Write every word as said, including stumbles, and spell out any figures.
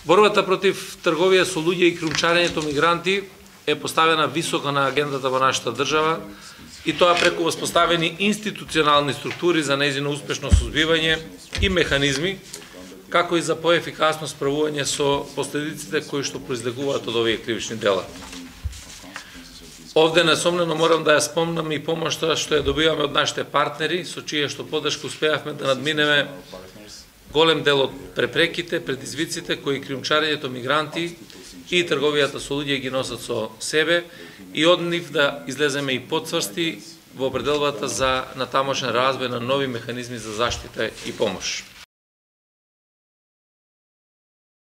Борбата против трговија со луѓе и кrijumčaрењето мигранти е поставена високо на агендата во нашата држава и тоа преку воспоставени институционални структури за нејзино успешно сузбивање и механизми, како и за поефикасно справување со последиците кои што произлегуваат од овие кривични дела. Овде несомнено морам да ја спомнам и помошта што ја добиваме од нашите партнери, со чија што поддршка успеавме да надминеме голем дел од препреките, предизвиците кои кrijumčaрењето мигранти и трговијата со луѓе ги носат со себе и од нив да излеземе и потврсти во определбата за натамошен развој на нови механизми за заштита и помош.